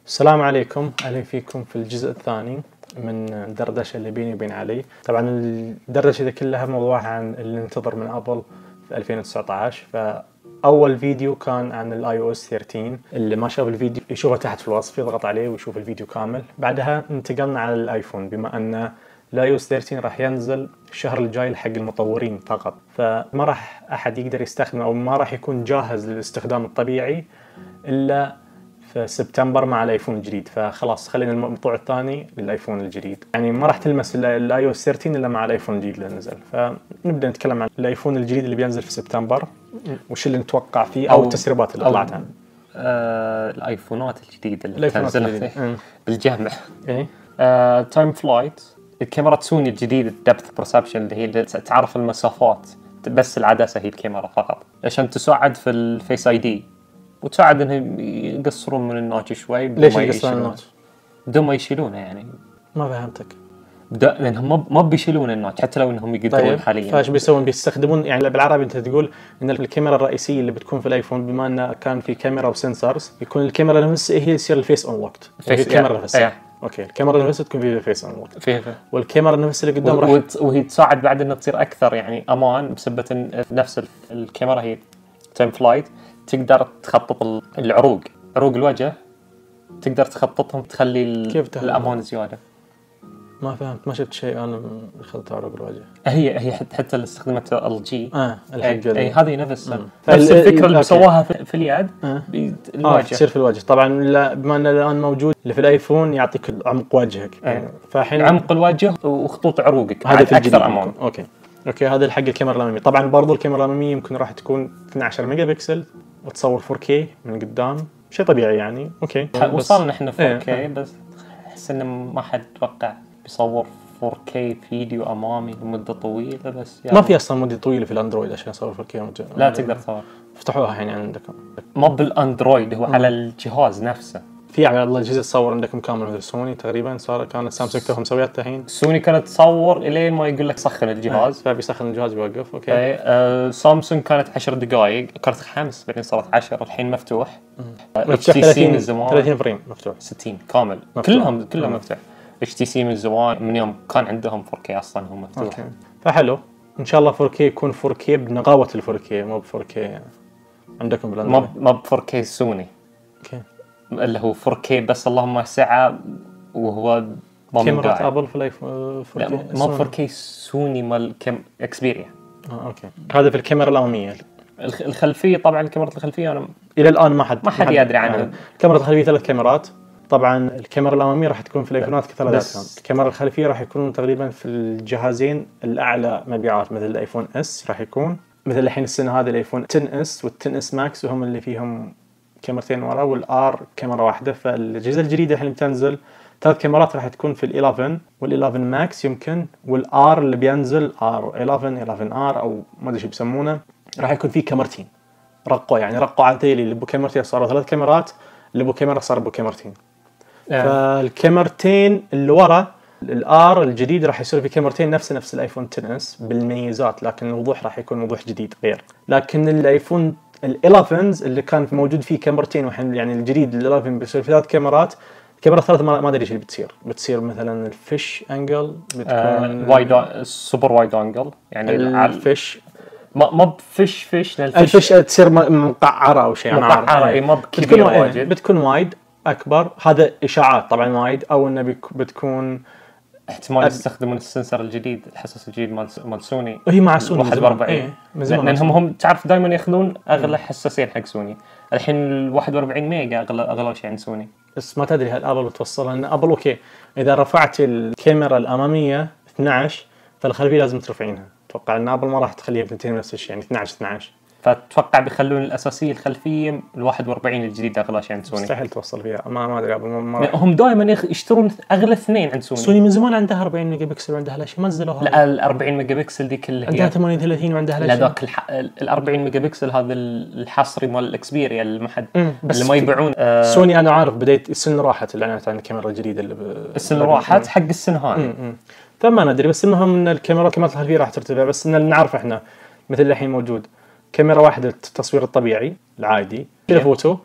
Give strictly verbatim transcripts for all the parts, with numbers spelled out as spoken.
السلام عليكم، أهلا فيكم في الجزء الثاني من الدردشة اللي بيني وبين علي. طبعا الدردشة دي كلها موضوعها عن اللي ننتظر من أبل في ألفين وتسعة عشر. فأول فيديو كان عن الاي او اس ثلاثة عشر، اللي ما شاف الفيديو يشوفه تحت في الوصف، يضغط عليه ويشوف الفيديو كامل. بعدها انتقلنا على الايفون، بما أن الاي او اس ثلاثة عشر راح ينزل الشهر الجاي حق المطورين فقط، فما راح أحد يقدر يستخدمه أو ما راح يكون جاهز للاستخدام الطبيعي إلا في سبتمبر مع الايفون الجديد. فخلاص خلينا الموضوع الثاني للايفون الجديد، يعني ما راح تلمس الاي او اس ثلاثة عشر الا مع الايفون الجديد اللي نزل. فنبدا نتكلم عن الايفون الجديد اللي بينزل في سبتمبر، وش اللي نتوقع فيه او, أو التسريبات اللي طلعت عنه. آه الايفونات الجديده اللي الايفونات تنزل بالجامع. ايه آه تايم فلايت، الكاميرا سوني الجديدة الدبث برسبشن اللي هي اللي تعرف المسافات، بس العدسه هي الكاميرا فقط عشان تساعد في الفيس اي دي، وتساعد انهم يقصرون من النوتش شوي. ليش يقصرون النوتش؟ بدون ما يشيلونه يعني. ما فهمتك. بدأ لانهم ما بيشيلون النوتش حتى لو انهم يقدرون. طيب حاليا فايش بيسوون؟ بيستخدمون يعني بالعربي انت تقول ان الكاميرا الرئيسيه اللي بتكون في الايفون، بما انه كان في كاميرا وسنسرز، يكون الكاميرا نفسها هي يصير الفيس اون وقت. الكاميرا نفسها يعني. اوكي، الكاميرا نفسها تكون فيها الفيس اون وقت فيها، والكاميرا نفسها اللي قدام راح وهي تساعد بعد انها تصير اكثر يعني امان، بسبب نفس الكاميرا هي تايم فلايت تقدر تخطط العروق، عروق الوجه تقدر تخططهم، تخلي الامان زياده. ما فهمت، ما شفت شيء انا خلطت عروق الوجه. هي هي حتى اللي استخدمت ال جي اه الحق اي هذه نفس نفس الفكره اللي سواها في, في اليد. آه. الوجه آه تصير في الوجه. طبعا بما انه الان موجود اللي في الايفون يعطيك عمق وجهك. آه. فالحين عمق الوجه وخطوط عروقك هذا في اكثر امان. اوكي اوكي هذا الحق الكاميرا الاماميه. طبعا برضو الكاميرا الاماميه يمكن راح تكون اثني عشر ميجا بكسل وتصور فور كي من قدام، شيء طبيعي يعني. اوكي وصلنا احنا فور كي. ايه. بس احس انه ما حد توقع بيصور فور كي فيديو امامي لمده طويله. بس يعني ما في اصلا مده طويله في الاندرويد عشان يصور فور كي. لا تقدر تصور، افتحوها يعني عندكم. ما بالاندرويد، هو على الجهاز نفسه. في على الاجهزه تصور عندكم كامل مثل سوني تقريبا، صار كانت سامسونج توهم مسوياتها الحين. سوني كانت تصور الين ما يقول لك سخن الجهاز، فبيسخن الجهاز بيوقف. اوكي آه سامسونج كانت عشر دقائق، كانت خمس بعدين صارت عشرة، الحين مفتوح. اتش تي سي من زمان ثلاثين فريم مفتوح، ستين كامل مفتوح. كلهم كلهم مم. مفتوح. اتش تي سي من زمان، من يوم كان عندهم فور كي اصلا هم مفتوح. أوكي. فحلو ان شاء الله فور كي يكون فور كي بنقاوه ال فور كي، مو ب فور كي عندكم بالاندرويد. ما ب فور كي سوني. اوكي اللي هو فور كي بس اللهم سعه، وهو كاميرا ابل في الايفون فور كي. ما فور كي سوني مال كم اكسبيريا. اه اوكي هذا في الكاميرا الاماميه. الخلفيه طبعا الكاميرا الخلفيه انا الى الان ما حد ما حد يدري عنها. الكاميرا الخلفيه ثلاث كاميرات. طبعا الكاميرا الاماميه راح تكون في الايفونات كثلاثتهم. الكاميرا الخلفيه راح يكونون تقريبا في الجهازين الاعلى مبيعات، مثل الايفون اس راح يكون مثل الحين السنه هذه الايفون عشرة اس والعشرة اس ماكس، وهم اللي فيهم كاميرتين ورا، والار كاميرا واحده. فالاجهزه الجديده اللي بتنزل ثلاث كاميرات راح تكون في ال11 وال11 ماكس يمكن، والار اللي بينزل ار احداشر احداشر ار او ما ادري شو بيسمونه، راح يكون فيه كاميرتين. رقوا يعني رقوا على تيلي اللي بو كاميرتين صاروا ثلاث كاميرات، اللي بو كاميرا صار بو كاميرتين. يعني. فالكاميرتين اللي ورا الار الجديد راح يصير في كاميرتين نفس نفس الايفون عشرة اس بالميزات، لكن الوضوح راح يكون وضوح جديد غير. لكن الايفون ال11 اللي كان موجود فيه كاميرتين، وحين يعني الجديد ال11 بيصير في ثلاث كاميرات. الكاميرا الثالثة ما ادري ايش اللي بتصير بتصير مثلا الفيش انجل بتكون آه وايد سوبر وايد انجل، يعني الفيش ما ما بفيش فيش الفيش, الفيش تصير مقعره او شيء مقعره. اي ما بتكون وايد بتكون وايد اكبر. هذا اشاعات طبعا وايد، او انه بتكون احتمال يستخدمون السنسر الجديد، الحساس الجديد مال مال سوني. وهي مع سوني واحد وأربعين لانهم هم تعرف دائما ياخذون اغلى حساسين حق سوني. الحين ال واحد وأربعين ميجا اغلى اغلى شيء عند سوني. بس ما تدري هل ابل بتوصلها، لان ابل اوكي اذا رفعت الكاميرا الاماميه اثني عشر فالخلفيه لازم ترفعينها. اتوقع ان ابل ما راح تخليها بثنتين نفس الشيء، يعني اثني عشر اثني عشر. فتوقع بيخلون الاساسيه الخلفيه ال واحد وأربعين الجديد اغلى شيء عند سوني. مستحيل توصل فيها. ما ما ادري ابل ما هم دائما يشترون اغلى اثنين عند سوني. سوني من زمان عندها أربعين ميجا بكسل وعندها لا شيء نزلوها. لا ال أربعين ميجا بكسل دي كلها عندها ثمانية وثلاثين وعندها لا شيء. لا ذاك الح... ال أربعين ميجا بكسل هذا الحصري مال الاكسبيريا اللي ما حد اللي ما يبيعون. آه سوني انا عارف بديت السنه راحت الاعلانات عن الكاميرا الجديده اللي ب... السنه راحت حق السنه هذه. فما ندري، بس المهم ان الكاميرا كاميرا الخلفيه راح ترتفع. بس ان نعرف احنا مثل الحين موجود كاميرا واحده التصوير الطبيعي العادي الفوتو،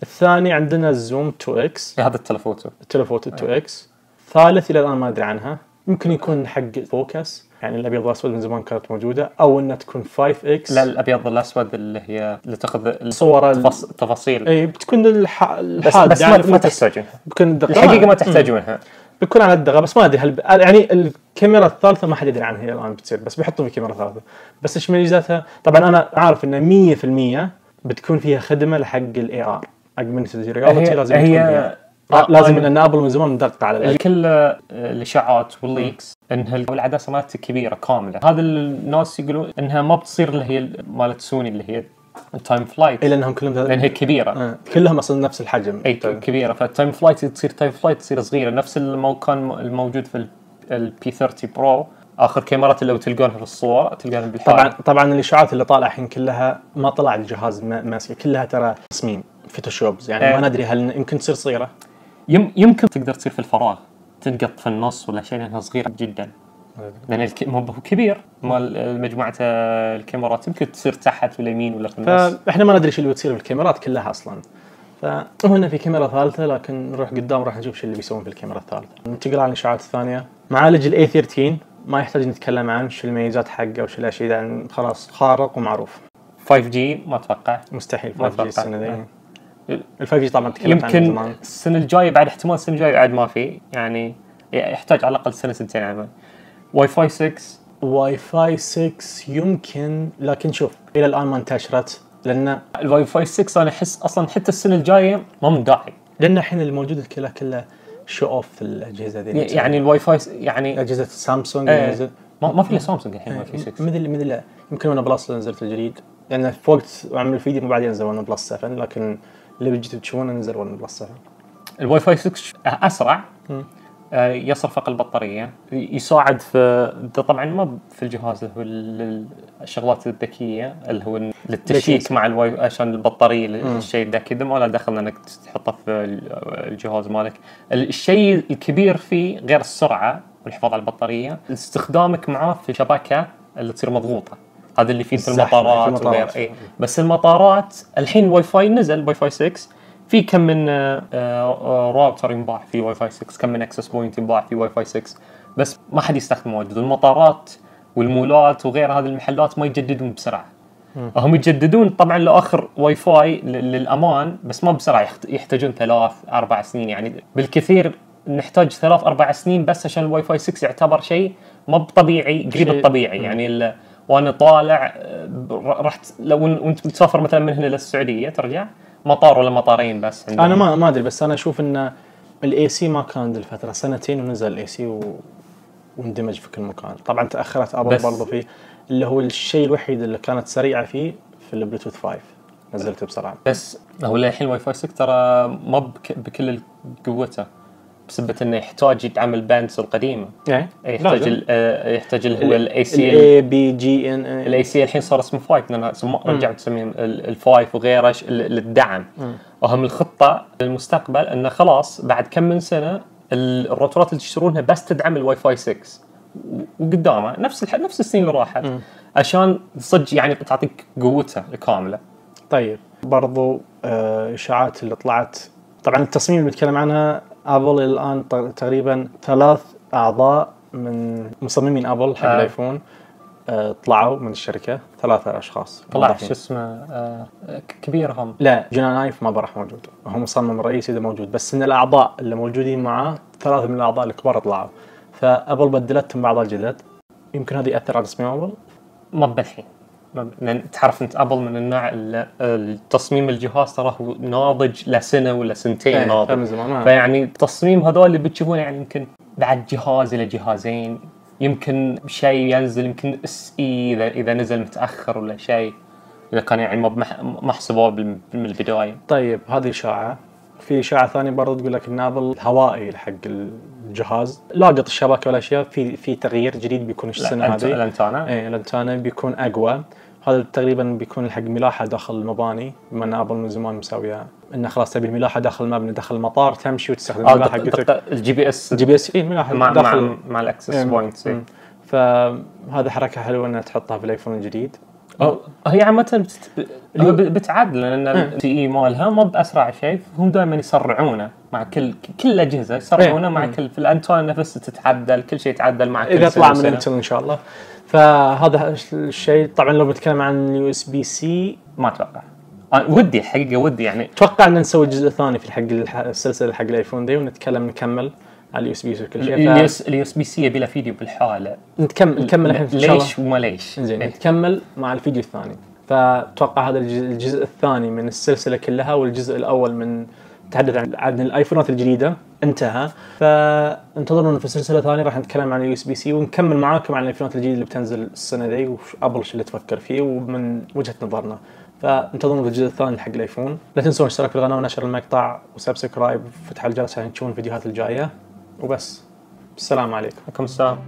الثاني عندنا الزوم تو إكس، هذا التلفوتو التلفوتو تو إكس. ثالث الى الان ما ادري عنها، يمكن يكون حق فوكس، يعني الابيض والاسود من زمان كانت موجوده، او انها تكون خمسة إكس. لا الابيض والاسود اللي هي اللي تاخذ صور التفاص... التفاصيل، اي بتكون الح... بس, بس يعني ما تحتاجونها، بكون الحقيقه ما تحتاجونها، بيكون على الدغه. بس ما ادري هل ب... يعني الكاميرا الثالثه ما حد يدري عنها الان بتصير، بس بيحطوا في كاميرا ثالثه. بس ايش ميزاتها؟ طبعا انا عارف ان مية بالمية بتكون فيها خدمه لحق الاي ار، اجمنتد رياليتي لازم هي... تكون فيها. آه لازم ان ابل من زمان مدققه على كل الاشاعات والليكس انها العدسه مالتها كبيره كامله. هذا الناس يقولون انها ما بتصير اللي هي مالت سوني اللي هي التايم فلايت، الا انهم كلهم لان هي كبيره. آه. كلهم اصلا نفس الحجم، اي كبيره. فالتايم فلايت تصير تايم فلايت تصير صغيره، نفس ما كان الموجود في البي ثلاثين برو. اخر كاميرات اللي تلقونها في الصور تلقونها بالحال. طبعا طبعا الاشاعات اللي طالعه الحين كلها ما طلع الجهاز ماسكه، كلها ترى تصميم فوتوشوبز، يعني آه. ما ندري هل يمكن تصير صغيره، يم يمكن تقدر تصير في الفراغ، تنقط في النص ولا شيء، لانها صغيره جدا. لان الك... مو كبير مال مجموعه الكاميرات، يمكن تصير تحت ولا يمين ولا في النص. فاحنا ما ندري ايش اللي بتصير بالكاميرات كلها اصلا. فهنا في كاميرا ثالثه، لكن نروح قدام راح نشوف ايش اللي بيسوون في الكاميرا الثالثه. ننتقل على الاشاعات الثانيه. معالج الاي ثلاثة عشر ما يحتاج نتكلم عنه، شو الميزات حقه وش الاشياء، يعني خلاص خارق ومعروف. فايف جي ما اتوقع، مستحيل فايف جي السنه ذي. آه. ال فايف جي طبعا تكلمت عنه يمكن زمان، السنه الجايه بعد احتمال السنه الجايه بعد ما في، يعني يحتاج على الاقل سنه سنتين عمل. واي فاي ستة واي فاي ستة يمكن، لكن شوف الى الان ما انتشرت، لان الواي فاي ستة انا احس اصلا حتى السنه الجايه ما من داعي، لان الحين الموجود كله كله شو اوف في الاجهزه ذي. يعني الواي فاي يعني اجهزه سامسونج ايه نزل، ما, ما في الا سامسونج الحين واي فاي ستة. مثل مثل يمكن ون بلس نزلت الجديد، لان يعني في وقت عمل الفيديو مو بعدين نزل ون بلس سبعة، لكن اللي بيجي تشوفونه نزل ون بلس سبعة. الواي فاي ستة اسرع، آه يصرف اقل بطاريه، يساعد في طبعا ما في الجهاز اللي هو الشغلات الذكيه اللي هو للتشيك مع الواي عشان البطاريه الشيء ده كذا ما له دخل انك تحطه في الجهاز مالك. الشيء الكبير فيه غير السرعه والحفاظ على البطاريه، استخدامك معاه في شبكه اللي تصير مضغوطه، هذا اللي فيه في المطارات وغير. اي بس المطارات الحين واي فاي نزل واي فاي ستة، في كم من راوتر ينباع في واي فاي ستة، كم من اكسس بوينت ينباع في واي فاي ستة، بس ما حد يستخدمه واجد. المطارات والمولات وغير هذه المحلات ما يجددون بسرعه. هم يجددون طبعا لاخر واي فاي للامان، بس ما بسرعه، يحتاجون ثلاث اربع سنين، يعني بالكثير نحتاج ثلاث اربع سنين بس عشان الواي فاي ستة يعتبر شيء ما طبيعي، قريب الطبيعي. يعني وانا طالع رحت لو وانت بتسافر مثلا من هنا للسعوديه ترجع مطار ولا مطارين بس عندهم. انا ما ما ادري، بس انا اشوف ان الاي سي ما كان ذي الفتره سنتين ونزل الاي سي و... واندمج في كل مكان. طبعا تاخرت ابل برضه فيه، اللي هو الشيء الوحيد اللي كانت سريعه فيه في البلوتوث خمسة نزلته بسرعه. بس هو الحين واي فاي ستة ترى ما بك... بكل قوته، بسبب انه يحتاج يتعمل باندز القديمه. يعني يحتاج ال... يحتاج اللي هو الاي سي الاي بي جي ان الاي سي الحين صار اسمه خمسة، لان رجعوا تسميه الفايف وغيره للدعم. اهم الخطه للمستقبل انه خلاص بعد كم من سنه الروترات اللي تشترونها بس تدعم الواي فاي ستة، وقدامه نفس الح... نفس السنين اللي راحت، م. عشان صدق يعني تعطيك قوتها كامله. طيب برضو اشاعات اللي طلعت، طبعا التصميم اللي بنتكلم عنها ابل الان تقريبا ثلاث اعضاء من مصممين ابل حق آه. الايفون آه طلعوا من الشركه، ثلاثه اشخاص طلع شو اسمه آه كبير هم. لا جونان ايف ما راح موجود، هو مصمم رئيسي ده موجود، بس ان الاعضاء اللي موجودين معاه ثلاثه من الاعضاء الكبار طلعوا، فابل بدلتهم باعضاء جدد. يمكن هذا ياثر على تصميم ابل؟ ما بالحين، لان تعرف انت ابل من النوع التصميم الجهاز ترى هو ناضج لسنه ولا سنتين ناضج، فيعني التصميم هذول اللي بتشوفونه يعني يمكن بعد جهاز الى جهازين، يمكن شيء ينزل يمكن اس اي اذا اذا نزل متاخر ولا شيء، اذا كان يعني ما محسوبه من البدايه. طيب هذه اشاعه. في اشاعه ثانيه برضه تقول لك ان ابل الهوائي حق الجهاز لاقط الشبكه والاشياء، في في تغيير جديد بيكون السنه هذه. الانتانا اي الانتانا بيكون اقوى، هذا تقريبا بيكون حق ملاحه داخل المباني، بما ان ابل من زمان مسويها انه خلاص تبي الملاحه داخل المبنى داخل المطار تمشي وتستخدم الملاحه حقتك الجي بي اس الجي بي اس اي ملاحه مع داخل مع, مع الاكسس بوينتس. فهذا حركه حلوه انها تحطها في الايفون الجديد. أو هي عامة بتت... بتعدل لأن التي إي مالها ما بأسرع شيء، هم دائما يسرعونه مع كل كل الأجهزة يسرعونه مع كل في الأنتون نفسه تتعدل، كل شيء يتعدل مع كل إذا طلع من انتل إن شاء الله. فهذا الشيء طبعا لو بنتكلم عن يو اس بي سي ما أتوقع أه ودي حقيقة ودي يعني أتوقع أن نسوي الجزء الثاني في الحق السلسلة حق الآيفون دي ونتكلم نكمل على اليو اس بي سي وكل شيء. اليو اس بي سي يبي له فيديو بالحالة نتكمل نكمل الحين إن شاء الله. ليش وما ليش زين نكمل مع الفيديو الثاني. فأتوقع هذا الجزء الثاني من السلسلة كلها، والجزء الأول من تحدث عن عن الايفونات الجديدة انتهى. فانتظرونا في سلسلة ثانية راح نتكلم عن اليو اس بي سي ونكمل معاكم عن الايفونات الجديدة اللي بتنزل السنة ذي وش ابل شو اللي تفكر فيه ومن وجهة نظرنا. فانتظرونا في الجزء الثاني حق الايفون. لا تنسون اشتراك في القناة ونشر المقطع وسبسكرايب وفتح الجرس عشان تشوفون الفيديوهات الجاية. وبس السلام عليكم. عليكم السلام.